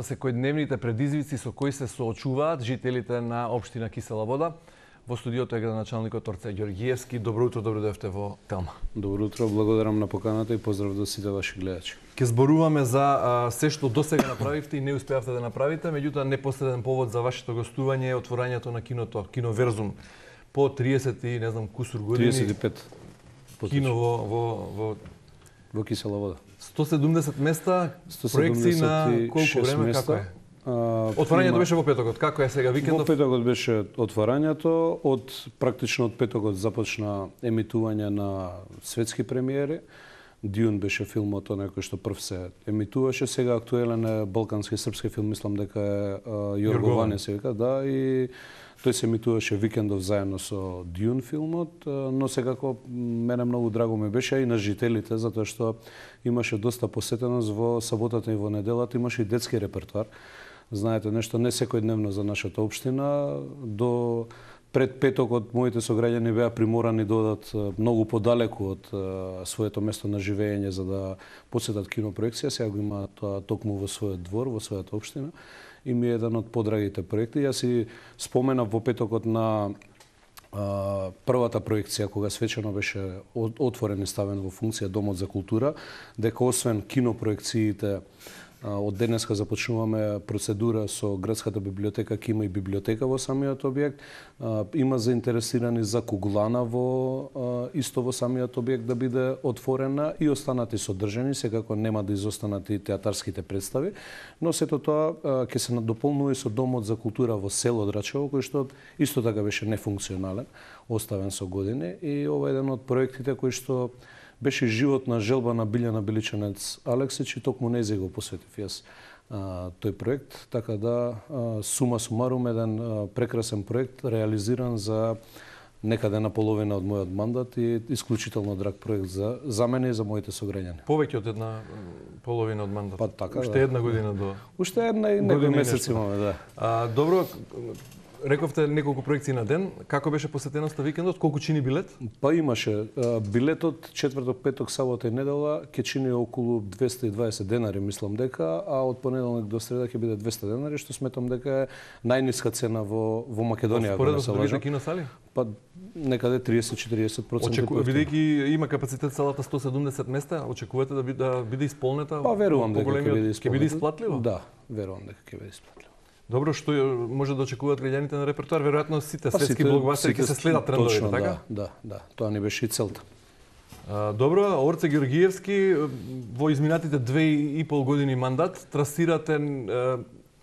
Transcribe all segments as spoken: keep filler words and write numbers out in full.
секојдневните предизвици со кои се соочуваат жителите на општина Кисела Вода. Во студиото е градоначалникот Орце Ѓорѓиевски. Добро утро, добро дојдовте во Телма. Добро утро, благодарам на поканата и поздрав до сите ваши гледачи. Ке зборуваме за а, се што досега направивте и не успеавте да направите, меѓутоа непосреден повод за вашето гостување е отворањето на киното Киноверзум. По триесет и не знам кусур години. триесет и пет. Кино во во во во Кисела Вода. сто седумдесет места, проекции на колку време, места. како е? Отворањето беше во петокот, како е сега викендов? Во петокот беше отворањето, од практично од петокот започна емитување на светски премиери. Дюн беше филмот оној кој што прв се емитуваше, сега актуелен е балкански српски филм, мислам дека е Јорго Ване се вика, да, и тој се емитуваше викендов заедно со Дюн филмот, но секако мене многу драго ми беше и на жителите, затоа што имаше доста посетеност во саботата и во неделата, имаше и детски репертоар. Знаете, нешто не секојдневно за нашата општина. До пред петокот моите сограѓани беа приморани да одат многу подалеку од своето место на живење за да посетат кинопроекција. Сега го има тоа токму во својот двор, во својата општина. И ми е еден од подрагите проекти. Јас си споменав во петокот на а, првата проекција, кога свечено беше отворен и ставен во функција Домот за култура, дека освен кинопроекциите, од денеска започнуваме процедура со градската библиотека, ке има и библиотека во самиот објект. Има заинтересирани за куглана во исто во самиот објект да биде отворена и останати содржани, секако нема да изостанат и театарските представи, но сето тоа ќе се надополнува и со Домот за култура во село Драчево, кој што исто така беше нефункционален, оставен со години, и ова е еден од проектите кој што беше животна желба на Билјана Биличанец Алексич и токму нејзе го посветив јас а, тој проект, така да а, сума сумарум еден а, прекрасен проект реализиран за некаде на половина од мојот мандат и исклучително драг проект за за мене и за моите сограѓани. Повеќе од една половина од мандат. Па така, Уште да. една година до. Уште една и некој месец имаме, да. А, добро, рековте неколку проекции на ден. Како беше посетеноста викендот? Колку чини билет? Па имаше. Билетот четврток, петок, сабота и недела ќе чини околу двесте и дваесет денари, мислам дека, а од понеделник до среда ќе биде двесте денари, што сметам дека е најниска цена во во Македонија. Споредно со другите киносали? Па некаде триесет до четириесет проценти. Очеку... Бидејќи има капацитет салата сто седумдесет места, очекувате да биде, да биде исполнета? Па верувам дека ќе биде исполнета. Ќе биде исплатливо? Да, верувам дека ќе биде исплатливо. Добро, што може да очекуваат граѓаните на репертоар? Веројатно сите па, светски блокбастери ќе се следат трендовите, точно, така? Да, да, да. Тоа ни беше и целта. А, добро, Орце Ѓорѓиевски, во изминатите две и пол години мандат трасирате е,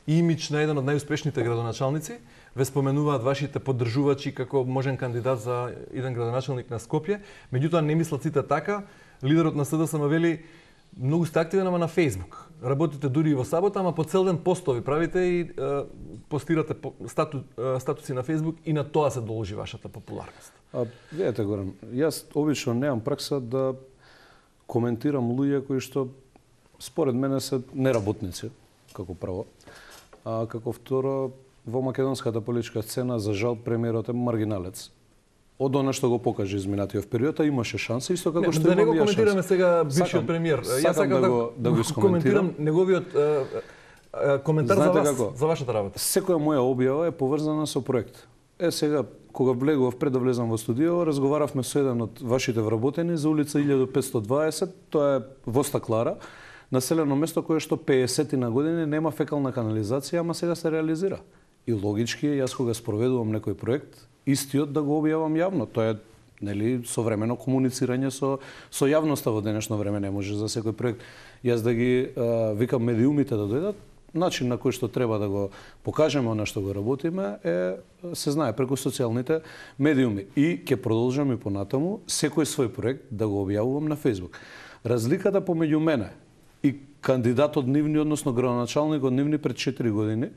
имидж на еден од најуспешните градоначалници. Ве споменуваат вашите поддржувачи како можен кандидат за еден градоначалник на Скопје. Меѓутоа не мислат сите така. Лидерот на СДСМ вели многу сте активен ама на Facebook. Работите дури и во сабота, ама по цел ден постови правите и е, постирате стату, е, статуси на Facebook и на тоа се должи вашата популарност. А, видете, Горан, јас обично немам пракса да коментирам луѓе кои што според мене се неработници, како прво. А како второ, во македонската политичка сцена, за жал, премиерот е маргиналец. Од она што го покажа изминатиот период, имаше шанса, исто како не, што да имам не го коментираме шанса. сега бившиот премиер. Јас сакам да, го, да го коментирам неговиот е, е, коментар Знаете за вас, како? за вашата работа. Секоја моја објава е поврзана со проект. Е сега, кога влегував пред да влезам во студио, разговаравме со еден од вашите вработени за улица илјада петстотини и дваесет, тоа е во Стаклара, населено место кое што пеесет на години нема фекална канализација, ама сега се реализира. И логички е, јас кога спроведувам некој проект, истиот да го објавам јавно. Тоа е, нели, современо комуницирање со со јавноста во денешно време, не може за секој проект јас да ги а, викам медиумите да дојдат. Начин на кој што треба да го покажеме она што го работиме е се знае преку социјалните медиуми и ќе продолжам и понатаму секој свој проект да го објавувам на Facebook. Разликата помеѓу мене и кандидатот нивни, односно градоначалникот нивни пред четири години,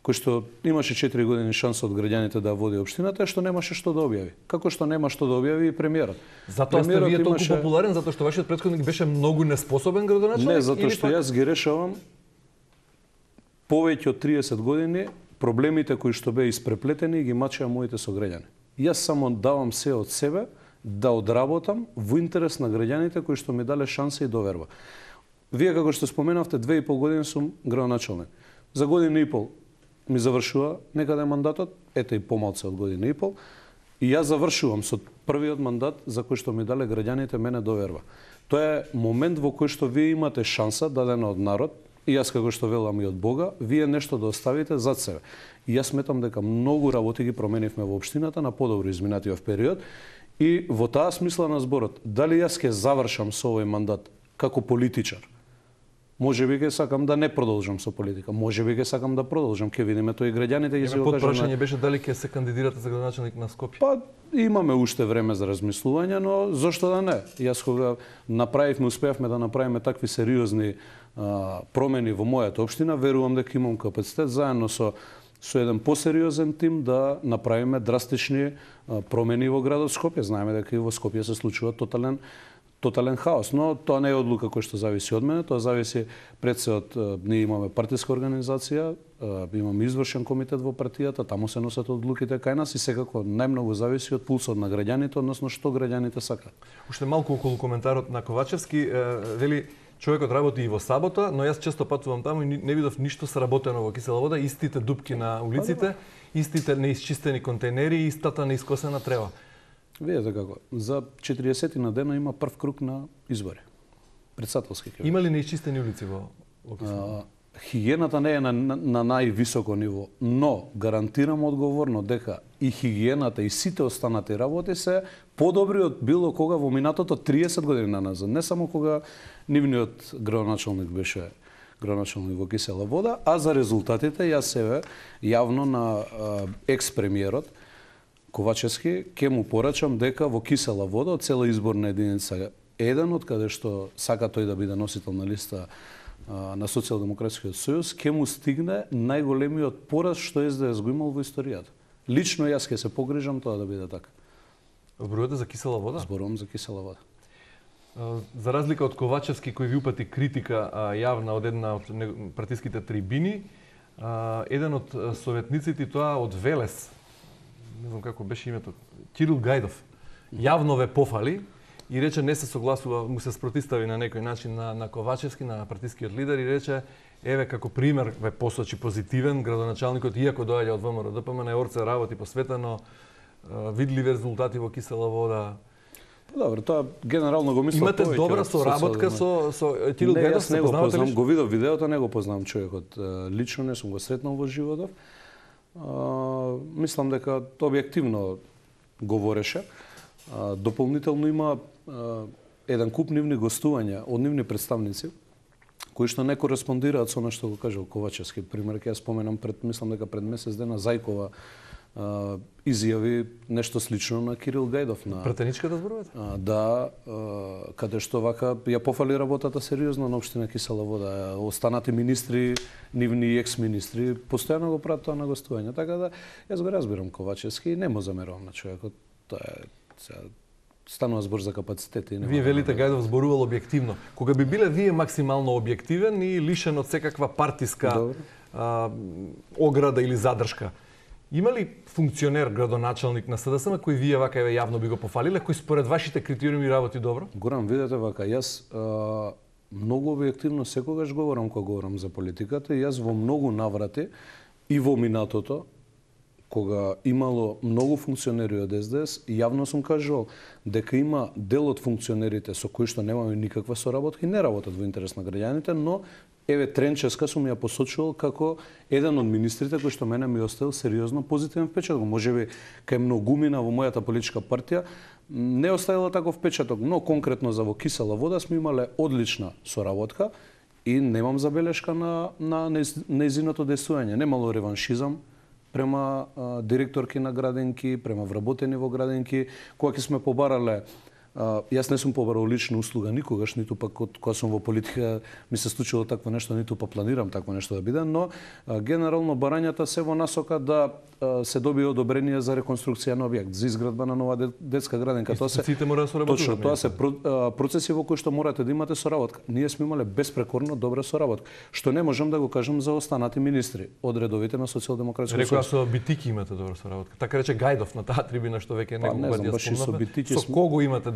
кој што имаше четири години шанса од граѓаните да води општината, е што немаше што да објави. Како што нема што да објави и премиерот. Затоа сте вие толку имаше... популарен, затоа што вашиот претходник беше многу неспособен градоначалник? Не, затоа што пак... јас ги решавам повеќе од триесет години проблемите кои што беа испреплетени и ги мачеа моите сограѓани. Јас само давам се од себе да одработам во интерес на граѓаните кои што ми дале шанса и доверба. Вие како што споменавте, две и пол години сум градоначалник. За година и пол ми завршува некаде мандатот, ете и помалце од година и пол, и јас завршувам со првиот мандат за кој што ми дале граѓаните мене доверба. Тоа е момент во кој што вие имате шанса, дадена од народ, и јас како што велам и од Бога, вие нешто да оставите зад себе. И јас сметам дека многу работи ги променивме во општината на подобро изминатиот период, и во таа смисла на зборот, дали јас ќе завршам со овој мандат како политичар, може би ќе сакам да не продолжам со политика, може би ќе сакам да продолжам, ќе видиме тоа и граѓаните ќе се го кажат. Прашање беше дали ќе се кандидирате за градоначалник на Скопје. Па имаме уште време за размислување, но зошто да не? Јас кога направивме, успеавме да направиме такви сериозни а, промени во мојата општина, верувам дека имам капацитет заедно со со еден посериозен тим да направиме драстични а, промени во градот Скопје. Знаеме дека и во Скопје се случува тотален тотален хаос, но тоа не е одлука која што зависи од мене, тоа зависи пред се од ние имаме партиска организација, имаме извршен комитет во партијата, таму се носат одлуките кај нас и секако најмногу зависи од пулсот на граѓаните, односно што граѓаните сакаат. Уште малку околу коментарот на Ковачевски, вели човекот работи и во сабота, но јас често патувам таму и не видов ништо сработено во Кисела вода, истите дупки на улиците, истите неисчистени контейнери и истата неискосена трева. Видете како, за четириесет на дена има прв круг на избори. Председателски ќе. Има ли неисчистени улици во Кисела? Хигиената не е на, на, на највисоко ниво, но гарантирам одговорно дека и хигиената и сите останати работи се подобри од било кога во минатото триесет години назад, не само кога нивниот градоначалник беше градоначалник во Кисела вода, а за резултатите јас себе јавно на екс-премиерот Ковачевски ќе му порачам дека во Кисела вода од цела изборна единица еден, од каде што сака тој да биде носител на листа на Социјалдемократскиот сојуз, ќе му стигне најголемиот пораз што Ес Де Ес го имал во историјата. Лично јас ќе се погрижам тоа да биде така. Зборувате за Кисела вода? Зборувам за Кисела вода. За разлика од Ковачевски кој ви упати критика јавна од една од партиските трибини, еден од советниците, тоа од Велес, не знам како беше името, Кирил Гајдов, јавно ве пофали и рече не се согласува, му се спротистави на некој начин на, на Ковачевски, на партискиот лидер и рече еве како пример ве посочи позитивен градоначалникот, иако доаѓа од ВМРО Д П М Н, Орце работи посветено, видливи резултати во Кисела вода. Добро, тоа генерално го мислам. Имате добра соработка со со Кирил Гајдов, се познавате ли? Го видов видеото, не го познавам човекот лично, не сум го сретнал во животов. Uh, мислам дека објективно говореше. Uh, дополнително има uh, еден куп нивни гостувања од нивни представници кои што не кореспондираат со она што го кажал Ковачевски. Пример, ќе ја споменам пред, мислам дека пред месец дена Зајкова uh, изјави нешто слично на Кирил Гајдов. На претеничката зборувате? Uh, да, uh, каде што вака ја пофали работата сериозно на општина Кисела вода. Останати министри, нивни екс-министри, постојано го прават тоа на гостување. Така да, јас го разбирам Ковачевски и не му замерувам на човекот. Тоа е, сега, станува збор за капацитети. Вие велите Гајдов зборувал објективно. Кога би биле вие максимално објективен и лишен од секаква партиска а, ограда или задршка, има ли функционер, градоначалник на С Д С М кој вие вака еве јавно би го пофалиле, кој според вашите критериуми работи добро? Горан, видете вака, јас а, многу објективно секогаш говорам кога говорам за политиката и јас во многу наврати и во минатото, кога имало многу функционери од Ес Де Ес, јавно сум кажувал дека има дел од функционерите со кои што немаме никаква соработка и не работат во интерес на граѓаните, но еве Тренческа сум ја посочувал како еден од министрите кој што мене ми оставил сериозно позитивен впечаток. Можеби кај многумина во мојата политичка партија не оставила таков впечаток, но конкретно за во Кисела вода сме имале одлична соработка и немам забелешка на на нејзиното действување. Немало реваншизам према а, директорки на градинки, према вработени во градинки, кога ќе сме побарале. Uh, јас не сум побарал лична услуга никогаш, ниту пак кога сум во политика ми се случило такво нешто, ниту па планирам такво нешто да биде, но uh, генерално барањата се во насока да uh, се добие одобрение за реконструкција на објект, за изградба на нова детска градинка. Тоа се мора да соработуваат. Точно, тоа се uh, процеси во кои што морате да имате соработка. Ние сме имале безпрекорно добра соработка, што не можам да го кажам за останати министри од редовите на Социјалдемократскиот сојуз. Рекоа со Битики имате добра соработка. Така рече Гајдов на таа трибина што веќе неколку пати ја спомнавме. Со кого имате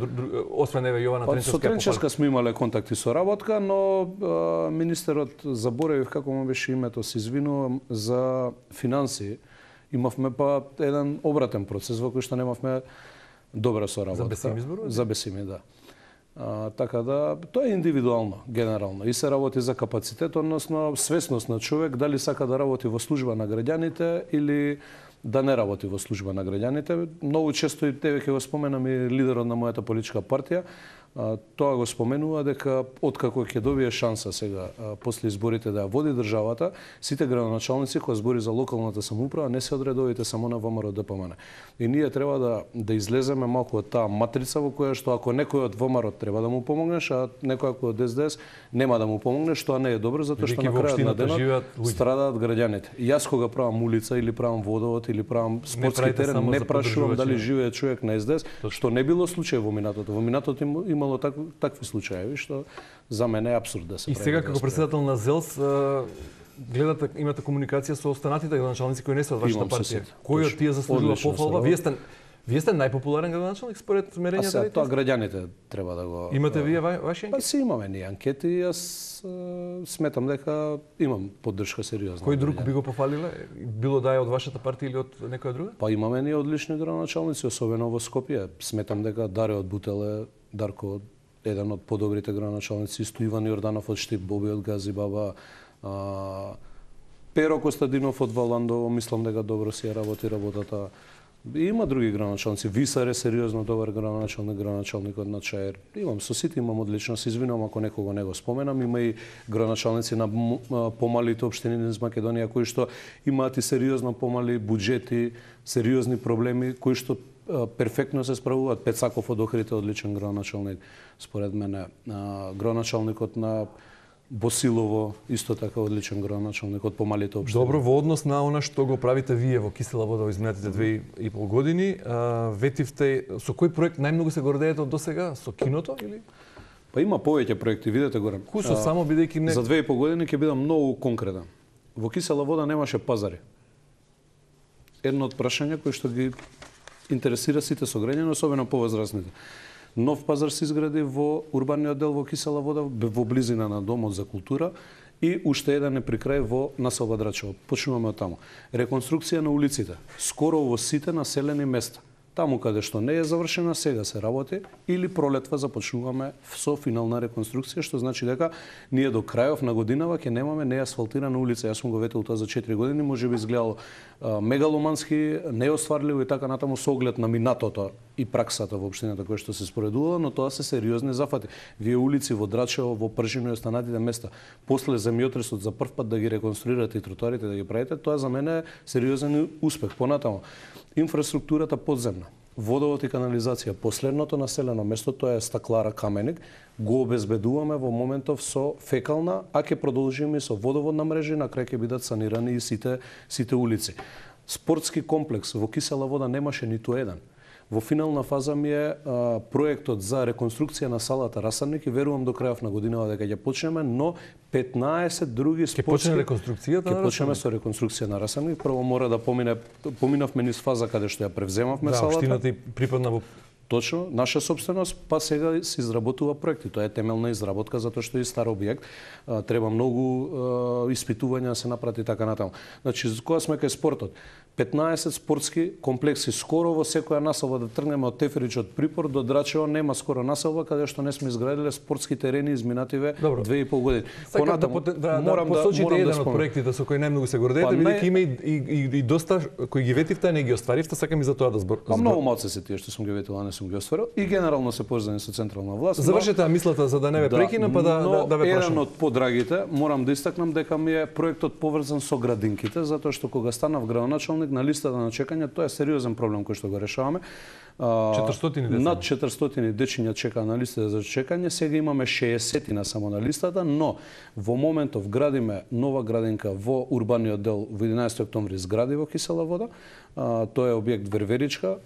освен еве Јована Па, Тренчевска? со Тренчевска сме имале контакти со работка, но а, министерот, заборавив како му беше името, се извинувам, за финансии, имавме па еден обратен процес во кој што немавме добра соработка. За Бесими зборува? За Бесими, да. А, така да, тоа е индивидуално, генерално. И се работи за капацитет, односно свесност на човек, дали сака да работи во служба на граѓаните или да не работи во служба на граѓаните. Многу често и тебе ќе го споменам и лидерот на мојата политичка партија, а, тоа го споменува дека откако ќе добие шанса сега а, после изборите да ја води државата, сите градоначалници кои збори за локалната самоуправа не се од редовите само на ВМРО Д П М Н. И ние треба да да излеземе малку од таа матрица во која што ако некој од ВМРО треба да му помогнеш, а некој ако од С Д С нема да му помогнеш, тоа не е добро затоа што на крајот на денот страдаат граѓаните. Јас кога правам улица или правам водовод или правам спортски терен, не прашувам дали живее човек на С Д С, што не било случај во минатото. Во минатото имало так, такви случаи, што за мене е апсурд да се прави. И сега како председател на ЗЕЛС гледате, имате комуникација со останатите градоначалници кои не се од вашата партија. Кој од тие заслужува пофалба? Вие сте Вие сте најпопуларен градоначалник според мерењата? А сега тоа граѓаните треба да го... Имате вие ваши анкети? Па си имаме ние анкети и јас сметам дека имам поддршка сериозна. Кој друг би го пофалиле? Било да е од вашата партија или од некоја друга? Па имаме ние одлични градоначалници, особено во Скопје. Сметам дека Даре од Бутеле, Дарко еден од подобрите градоначалници, исто Иван Јорданов од Штип, Боби од Газибаба, а, Перо Костадинов од Валандово, мислам дека добро си ја работи работата. Има други градоначалници. Висар е сериозно добар градоначалник, градоначалникот на Чаир. Имам со сите имам одлично, се извинувам ако некого не го споменам. Има и градоначалници на помалите општини низ Македонија кои што имаат и сериозно помали буџети, сериозни проблеми кои што перфектно се справуваат. Пецаков од Охрид е одличен градоначалник. Според мене градоначалникот на Босилово исто така одличен градоначалник од помалите општини. Добро, во однос на она што го правите вие во Кисела вода во изминатите две и пол години, а, ветивте со кој проект најмногу се гордеете од досега? Со киното или? Па има повеќе проекти, видете горе. Кусо само бидејќи не... За две и пол години ќе бидам многу конкретен. Во Кисела вода немаше пазари. Едно од прашања кои што ги интересира сите сограѓани, особено повозрасните. Нов пазар се изгради во урбаниот дел во Кисела вода, во близина на Домот за култура и уште еден е при крај во населба Драчево. Почнуваме од таму. Реконструкција на улиците, скоро во сите населени места. Таму каде што не е завршена, сега се работи или пролетва започнуваме со финална реконструкција, што значи дека ние до крајов на годинава ќе немаме неасфалтирана улица. Јас сум го ветил тоа за четири години, можеби изгледало а, мегаломански, неостварливо и така натаму со оглед на минатото и праксата во општината која што се споредувала, но тоа се сериозни зафати. Вие улици во Драчево, во Пржино и останатите места, после земјотресот за прв пат да ги реконструирате и тротоарите да ги правите, тоа за мене е сериозен успех. Понатаму, инфраструктурата подземна, водовод и канализација, последното населено место, тоа е Стаклара Каменик, го обезбедуваме во моментов со фекална, а ќе продолжиме со водоводна мрежа и на крај ќе бидат санирани и сите сите улици. Спортски комплекс во Кисела вода немаше ниту еден. Во финална фаза ми е а, проектот за реконструкција на салата Расарник и верувам до крајов на годината дека ќе почнеме, но петнаесет други спортски... Ќе почне реконструкцијата на Расарник? Ќе почнеме со реконструкција на Расарник. Прво мора да помине, поминавме низ фаза каде што ја превземавме да, салата. Да, општината и припадна во... Точно, наша собственост, па сега се изработува проекти. Тоа е темелна изработка, затоа што е стар објект. А, треба многу а, испитувања да се направи така натаму. Значи, кога сме кај спортот, петнаесет спортски комплекси. Скоро во секоја населба да тргнеме од Теферич од Припор до Драчево нема скоро населба каде што не сме изградиле спортски терени изминативе две и пол години. Сакам да, да, да посочите да, еден да од проектите со кои најмногу се гордеете, па, бидејќи има и, и, и, и доста кои ги ветивте, а не ги остваривте, сакам и за тоа да збор. Па многу малце се тие што сум ги ветил, а не сум ги остварил и генерално се поврзани со централна власт. Завршете мислата за да не ве да, прекинам, па да да, да ве прашам. Еден од подрагите, морам да истакнам дека ми е проектот поврзан со градинките, затоа што кога станав градоначалник на листата на чекање, тоа е сериозен проблем кој што го решаваме. четиристотини деца. Над четиристотини дечиња чекаа на листата за чекање, сега имаме шеесет на само на листата, но во моментов градиме нова градинка во урбаниот дел во единаесети октомври згради во Кисела вода. А, тоа е објект Верверичка.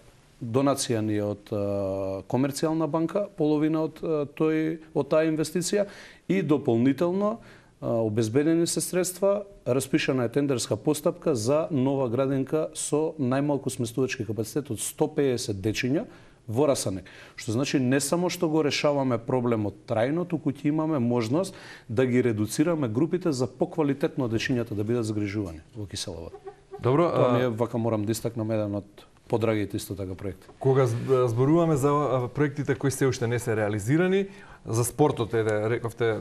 Донација ни е од а, комерцијална банка, половина од а, тој од таа инвестиција и дополнително обезбедени се средства, распишана е тендерска постапка за нова градинка со најмалку сместувачки капацитет од сто пеесет дечиња во Расанек. Што значи не само што го решаваме проблемот трајно, туку ќе имаме можност да ги редуцираме групите за поквалитетно дечињата да бидат загрижувани во кисела вода. Добро, тоа ми е, вака морам да истакнам еден од подрагите исто така проекти. Кога зборуваме за проектите кои се уште не се реализирани, за спортот е, рековте,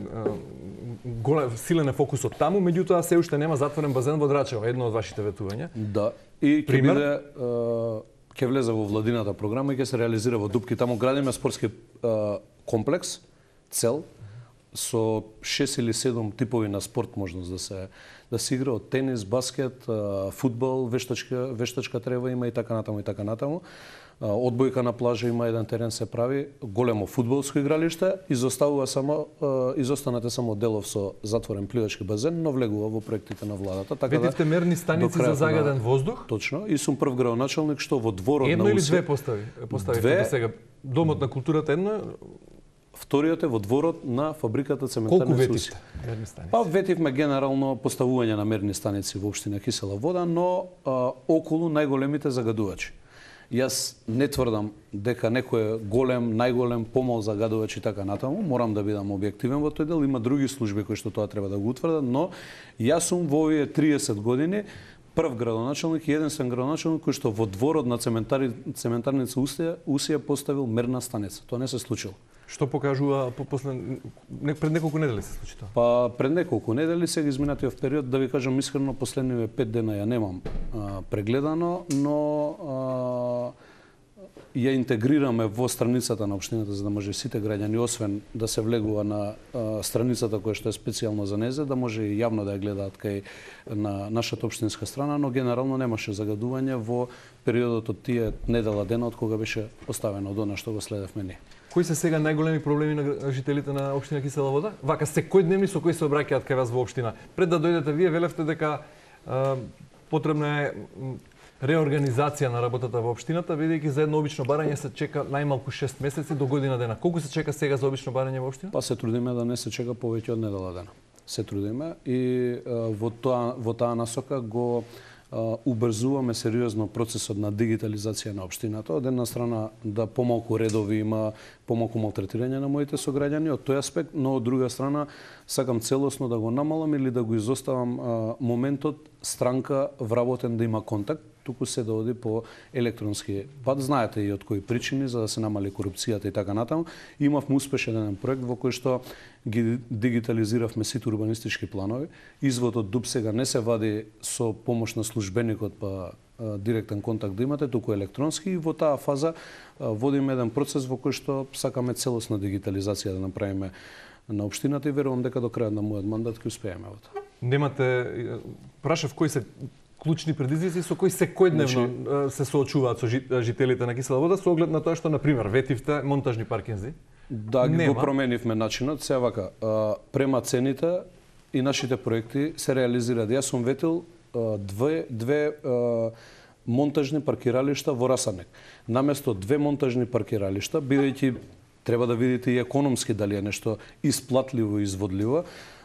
голем силен е фокусот таму, меѓутоа се уште нема затворен базен во Драчево, едно од вашите ветувања. Да, и ќе биде ќе влезе во владината програма и ќе се реализира во Дупки. Таму градиме спортски комплекс, цел, со шест или седум типови на спорт можност да се да се игра од тенис, баскет, фудбал, вештачка, вештачка трева има и така натаму и така натаму. Одбојка на плажа има, еден терен се прави, големо фудбалско игралиште, изоставува само изостанете само делов со затворен пливачки базен, но влегува во проектите на владата. Така Ветивте да, мерни станици за загаден на... воздух? Точно, и сум прв градоначалник што во дворот едно на Едно или две постави? Постави две... сега. Домот на културата едно? Вториот е во дворот на фабриката цементарни Колку ветивте мерни станици? Па ветивме генерално поставување на мерни станици во општина Кисела вода, но а, околу најголемите загадувачи. Јас не тврдам дека некој е голем, најголем, помал загадувач и така натаму, морам да бидам објективен во тој дел, има други служби кои што тоа треба да го утврдат, но јас сум во овие триесет години прв градоначалник и единствен градоначалник кој што во дворот на цементари, цементарница Усија, Усија поставил мерна станица. Тоа не се случило. Што покажува по после не, пред неколку недели се случи тоа? Па пред неколку недели сега изминатиот период, да ви кажам искрено, последниве пет дена ја немам а, прегледано, но а, ја интегрираме во страницата на општината за да може сите граѓани, освен да се влегува на а, страницата која што е специјално за незе, да може и јавно да ја гледаат кај на нашата општинска страна, но генерално немаше загадување во периодот од тие недела дена од кога беше поставено од она што го следевме ние. Кои се сега најголеми проблеми на жителите на општина Кисела вода? Вака секојдневни со кои се обраќаат кај вас во општина. Пред да дојдете вие велевте дека а, потребна е реорганизација на работата во општината, бидејќи за едно обично барање се чека најмалку шест месеци до година дена. Колку се чека сега за обично барање во општина? Па се трудиме да не се чека повеќе од недела дена. Се трудиме и а, во тоа во таа насока го убрзуваме сериозно процесот на дигитализација на општината. Од една страна да помалку редови има, помалку малтретирање на моите сограѓани од тој аспект, но од друга страна сакам целосно да го намалам или да го изоставам а, моментот странка вработен да има контакт, туку се да оди по електронски пат. Знаете и од кои причини, за да се намали корупцијата и така натаму. Имавме успешен еден проект во кој што ги дигитализиравме сите урбанистички планови. Изводот ДУП сега не се вади со помош на службеникот па а, директен контакт да имате, туку електронски, и во таа фаза а, водиме еден процес во кој што сакаме целосна дигитализација да направиме на општината и верувам дека до крајот на мојот мандат ќе успееме во тоа. Немате, прашав кои се клучни предизвици со кои секојдневно значи, се соочуваат со жителите на Кисела вода, со оглед на тоа што, например, ветивте монтажни паркинзи? Да, ги го променивме начинот. Сега вака, према цените и нашите проекти се реализираат. Јас сум ветил две, две монтажни паркиралишта во Расанек. Наместо две монтажни паркиралишта, бидејќи треба да видите и економски дали е нешто исплатливо и изводливо,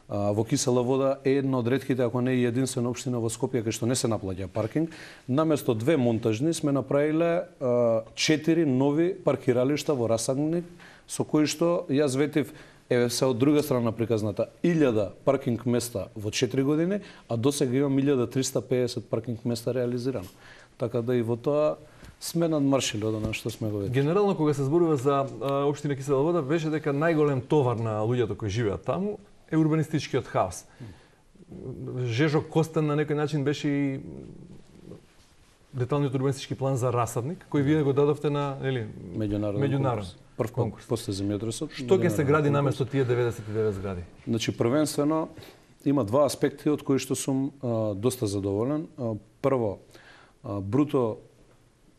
во Кисела вода е една од ретките, ако не и единствена општина во Скопје кај што не се наплаќа паркинг. Наместо две монтажни сме направиле четири нови паркиралишта во Расанек, со кои што јас ветив, еве се од друга страна приказната, илјада паркинг места во четири години, а досега имам илјада триста пеесет паркинг места реализирано. Така да и во тоа сме надмаршили од она што сме го видели. Генерално кога се зборува за општина Кисела вода, беше дека најголем товар на луѓето кои живеат таму е урбанистичкиот хаос. Жежо Костен на некој начин беше и деталниот урбанистички план за Расадник, кој вие го дадовте на, нели, меѓународен, меѓународен прв конкурс после земјотресот. Што ќе се гради наместо тие деветдесет и девет згради? Значи првенствено има два аспекти од кои што сум а, доста задоволен. А, прво, а, бруто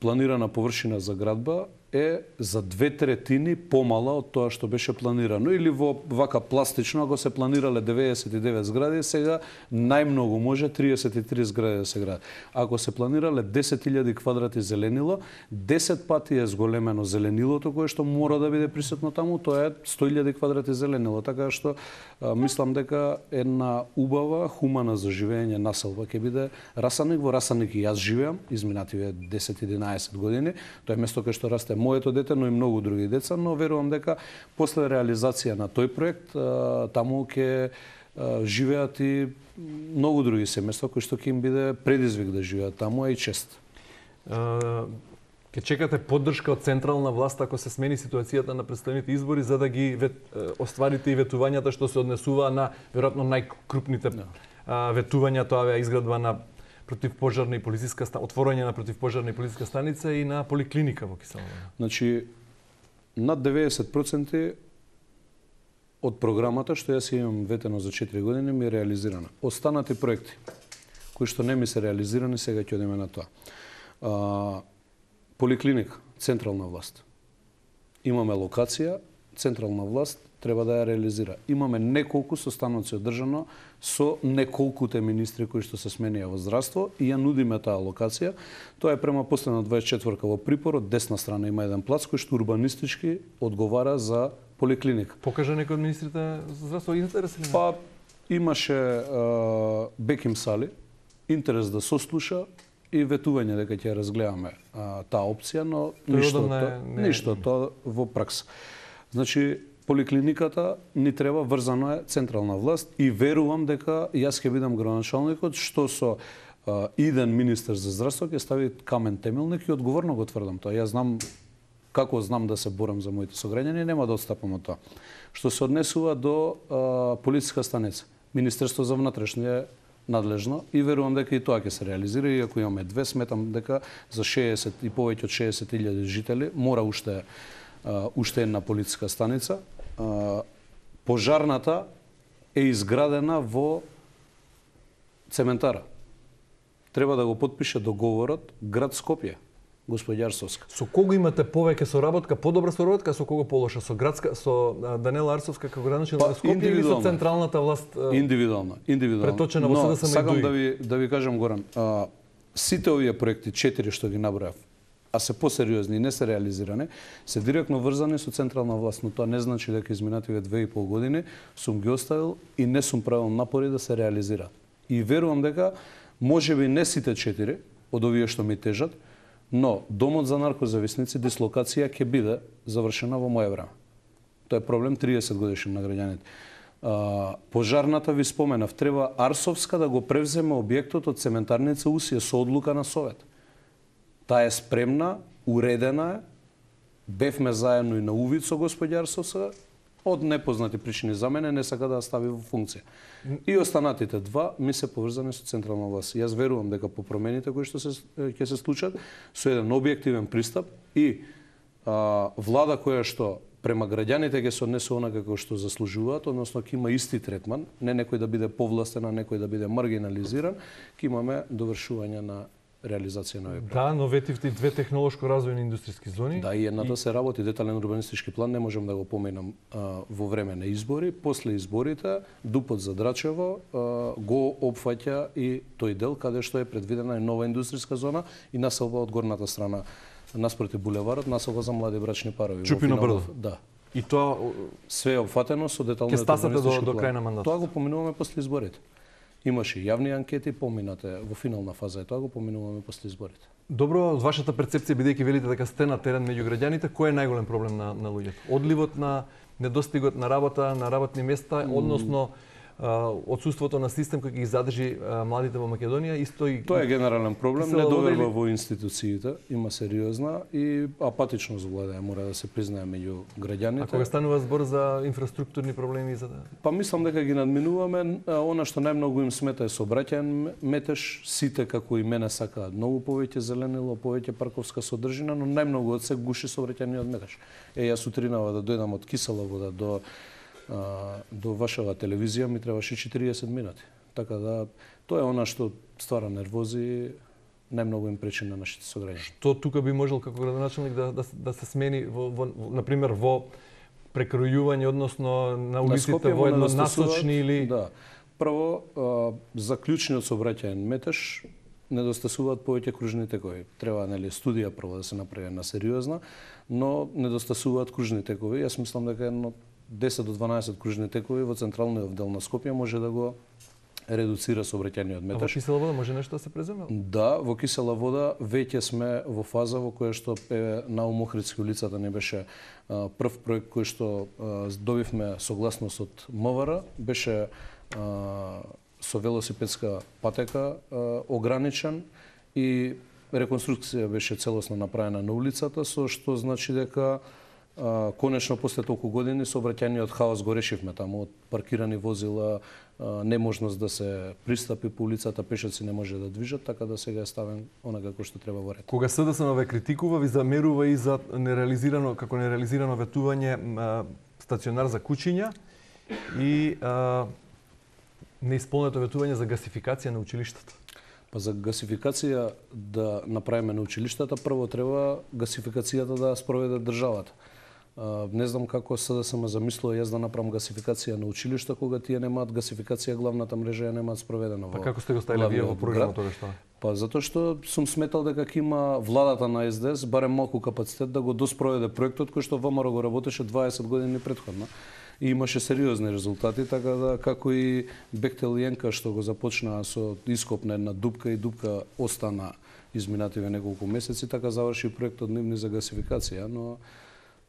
планирана површина за градба е за две третини помала од тоа што беше планирано. Или во вака пластично, ако се планирале деветдесет и девет згради, сега најмногу може триесет и три згради да се градат. Ако се планирале десет илјади квадрати зеленило, десет пати е зголемено зеленилото кое што мора да биде присутно таму, тоа е сто илјади квадрати зеленило. Така што а, мислам дека една убава, хумана за живење населба ќе биде Расанек. Во Расанек и јас живеам изминативе десет единаесет години. Тоа е место кај што расте моето дете, но и многу други деца, но верувам дека после реализација на тој проект таму ќе живеат и многу други семејства кои што ќе им биде предизвик да живеат таму, а и чест. Ке чекате поддршка од централна власт ако се смени ситуацијата на претставените избори за да ги вет, остварите и ветувањата што се однесува на веројатно најкрупните no. ветувања, тоа е изградба на противпожарна и полициска отворање на противпожарна и полициска станица и на поликлиника во Киселово. Значи над деветдесет проценти од програмата што јас имам ветено за четири години ми е реализирана. Останати проекти кои што не ми се реализирани, сега ќе одиме на тоа. А, поликлиника, централна власт. Имаме локација, централна власт треба да ја реализира. Имаме неколку состаноци одржано со неколкуте министри кои што се сменија во здравство и ја нудиме таа локација. Тоа е према последна дваесет и четвртка во припор, од десна страна има еден плац кој што урбанистички одговара за поликлиника. Покажа некој од министрите за здравство интерес или не? Па имаше а, Беким Сали, интерес да сослуша и ветување дека ќе разгледаме а, таа опција, но ништо тоа, не... ништо тоа во пракса. Значи поликлиниката ни треба, врзано е централна власт и верувам дека јас ќе бидам градоначалникот што со а, иден министер за здравство ќе стави камен темелник и одговорно го тврдам тоа. Јас знам како знам да се борам за моите сограѓани, нема да отстапам од тоа. Што се однесува до а, полициска станица, Министерство за внатрешни е надлежно и верувам дека и тоа ќе се реализира, иако имаме две, сметам дека за шеесет и повеќе од шеесет илјади жители мора уште а, уште една полициска станица. А, пожарната е изградена во цементара. Треба да го потпише договорот град Скопје. Господја Арсовска. Со кого имате повеќе соработка, подобра соработка, со кого полоша? Со градска, со Данела Арсовска како градоначалник на Скопје или со централната власт? Индивидуално, индивидуално. Преточена во СДСМ и сакам ДУИ. да ви да ви кажам Горан, а, сите овие проекти четири што ги набројав, а се посериозни и не се реализирани, се директно врзани со централна власт, но тоа не значи дека изминативе две и пол години сум ги оставил и не сум правил напори да се реализира. И верувам дека можеби не сите четири од овие што ми тежат, но домот за наркозависници дислокација ќе биде завршена во моје време. Тоа е проблем триесет годишен на граѓаните. А, пожарната ви споменав, треба Арсовска да го превземе објектот од цементарница Усија со одлука на Совет. Таа е спремна, уредена е, бевме заедно и на увид со господја Арсовска, од непознати причини за мене не сака да ја стави во функција. И останатите два ми се поврзани со централна власт. Јас верувам дека по промените кои што се ќе се случат со еден објективен пристап и а, влада која што према граѓаните ќе се однесува онака како што заслужуваат, односно ќе има исти третман, не некој да биде повластен, а некој да биде маргинализиран, ќе имаме довршување на реализација на овој проект. Да, но ветивте и две технолошко развојни индустријски зони. Да, и едната и... се работи детален урбанистички план, не можам да го поменам а, во време на избори. После изборите, ДУП-от за Драчево а, го опфаќа и тој дел каде што е предвидена и нова индустријска зона и населба од горната страна наспроти булеварот, населба за млади брачни парови. Чупино брдо. Да. И тоа све е опфатено со детален урбанистички план. Ке стасате до, до крај на мандатот. Тоа го поминуваме после изборите. Имаше јавни анкети, поминате во финална фаза, и тоа го поминуваме после изборите. Добро, од вашата перцепција, бидејќи велите дека сте на терен меѓу граѓаните, кој е најголем проблем на, на луѓето? Одливот на недостигот на работа, на работни места, mm. односно отсуството на систем кој ги задржи младите во Македонија, исто и тоа е генерален проблем, недоверба во институциите, има сериозна и апатичност владеја, мора да се признае меѓу граѓаните. А кога станува збор за инфраструктурни проблеми за да... Па мислам дека ги надминуваме, она што најмногу им смета е сообраќајен метеж, сите како и мене сакаат многу повеќе зеленило, повеќе парковска содржина, но најмногу од се гуши сообраќајниот метеж. Е, јас сутринава да дојдам од Киселово да до до вашава телевизија ми требаше четириесет минути. Така да, тоа е она што ствара нервози, најмногу им пречи на нашите сограѓани. Што тука би можел како градоначалник да, да, да се смени, во, во, например, во прекројување, односно на улиците во едно насочни или... Да. Прво, за клучниот сообраќајен метеж недостасуваат повеќе кружни текови. Треба, нели, студија прво да се направи на сериозна, но недостасуваат кружни текови. Јас мислам дека едно десет до дванаесет кружни текови во централниот дел на Скопје може да го редуцира сообраќајниот А во метеж. кисела вода може нешто да се преземе? Да, во кисела вода веќе сме во фаза во која што е на Охридски улицата не беше а, прв проект кој што а, добивме согласност од МВР, беше а, со велосипедска патека а, ограничен и реконструкција беше целосно направена на улицата, со што значи дека а, конечно после толку години сообраќајниот хаос го решивме таму, од паркирани возила, а, неможност да се пристапи по улицата, пешаци не може да движат, така да сега е ставен онага кој што треба во ред. Кога СДСМ ве критикува, ви замерува и за нереализирано, како нереализирано ветување а, стационар за кучиња и а, неисполнето ветување за гасификација на училиштата. Па за гасификација да направиме на училиштата, прво треба гасификацијата да спроведе државата. А, не знам како СДСМ замислува јас да направам гасификација на училишта кога тие немаат гасификација, главната мрежа ја немаат спроведена во. Па како сте го ставиле вие во програмот тоа што? Па затоа што сум сметал дека ќе има владата на Ес Де Ес барем малку капацитет да го доспроведе проектот кој што ВМРО го работеше дваесет години претходно. И имаше сериозни резултати, така да како и Бехтел и Енка што го започнаа со ископ на една дупка и дупка остана изминативе неколку месеци, така заврши проектот нивни за гасификација, но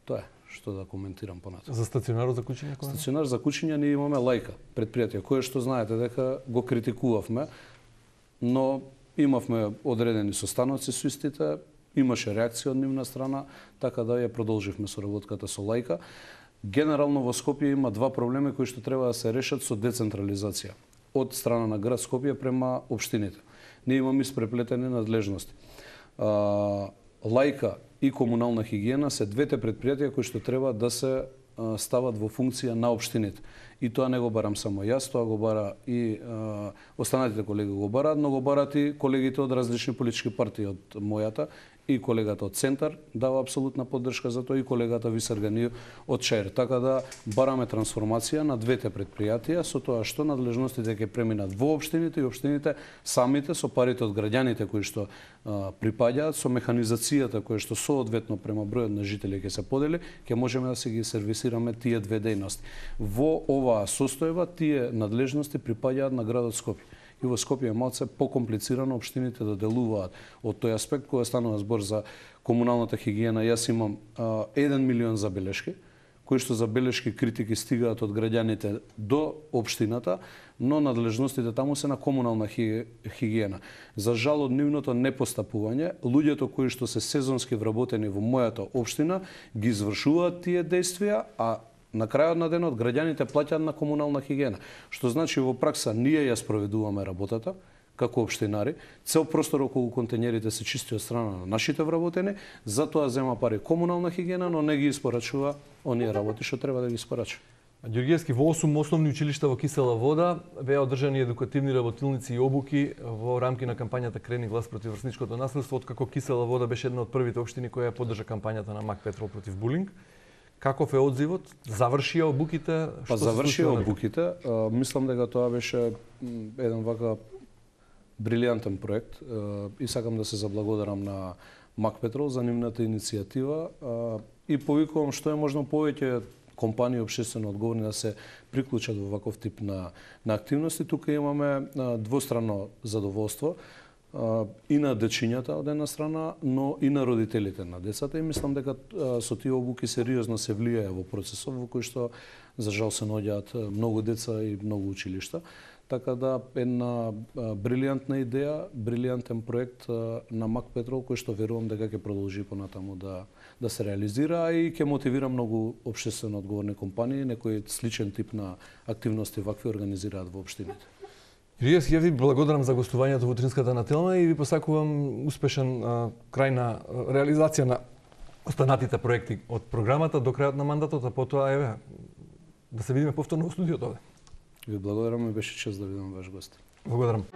тоа е што да коментирам понатаму. За стационарот за кучиња кој? Стационар за кучиња ние имаме Лајка, предпријатие, кое што знаете дека го критикувавме, но имавме одредени состаноци со истите, имаше реакција од нивна страна, така да ја продолживме соработката со Лајка. Генерално во Скопје има два проблеми кои што треба да се решат со децентрализација од страна на град Скопје према општините. Ние имаме испреплетени надлежности. А, Лајка и комунална хигиена се двете предпријатија кои што треба да се а, стават во функција на општините. И тоа не го барам само јас, тоа го бара и а, останатите колеги го бараат, но го бараат и колегите од различни политички партии од мојата, и колегата од Центар дава апсолутна поддршка за тоа, и колегата Висар Ганиев од ЧАЕР. Така да бараме трансформација на двете предпријатија со тоа што надлежностите ќе преминат во општините и општините самите со парите од граѓаните кои што а, припаѓаат, со механизацијата која што соодветно према бројот на жители ќе се подели, ќе можеме да се ги сервисираме тие две дејности. Во оваа состојба тие надлежности припаѓаат на градот Скопје. И во Скопје е малце покомплицирано општините да делуваат од тој аспект кога станува збор за комуналната хигиена. Јас имам а, еден милион забелешки, кои што забелешки критики стигаат од граѓаните до општината, но надлежностите таму се на комунална хигиена. За жал од нивното непостапување, луѓето кои што се сезонски вработени во мојата општина ги извршуваат тие действија, а на крајот на денот граѓаните плаќаат на комунална хигиена, што значи во пракса ние ја спроведуваме работата како општинари, цел простор околу контењерите се чисти од страна на нашите вработени, затоа зема пари комунална хигиена, но не ги испорачува оние работи што треба да ги испорачува. Ѓоргиевски, во осум основни училишта во Кисела Вода беа одржани едукативни работилници и обуки во рамки на кампањата Крени глас против врсничкото насилство, откако Кисела Вода беше една од првите општини која ја поддржа кампањата на Мак Петрол против булинг. Каков е одзивот? Завршија обуките? Па завршија обуките. А, мислам дека тоа беше еден вака брилијантен проект а, и сакам да се заблагодарам на Мак Петрол за нивната иницијатива а, и повикувам што е можно повеќе компании општествено одговорни да се приклучат во ваков тип на, на активности. Тука имаме а, двостранно задоволство и на дечињата од една страна, но и на родителите на децата, и мислам дека со тие обуки сериозно се влијае во процесот во кој што за жал се наоѓаат многу деца и многу училишта. Така да една брилијантна идеја, брилијантен проект на Мак Петрол кој што верувам дека ќе продолжи понатаму да да се реализира и ќе мотивира многу општествено одговорни компании, некој сличен тип на активности вакви организираат во општините. Јас ја ви благодарам за гостувањето во утринската на Телма и ви посакувам успешен а, крај на а, реализација на останатите проекти од програмата до крајот на мандатот, а потоа еве да се видиме повторно во студиото овде. Ви благодарам и беше чест да бидам ваш гост. Благодарам.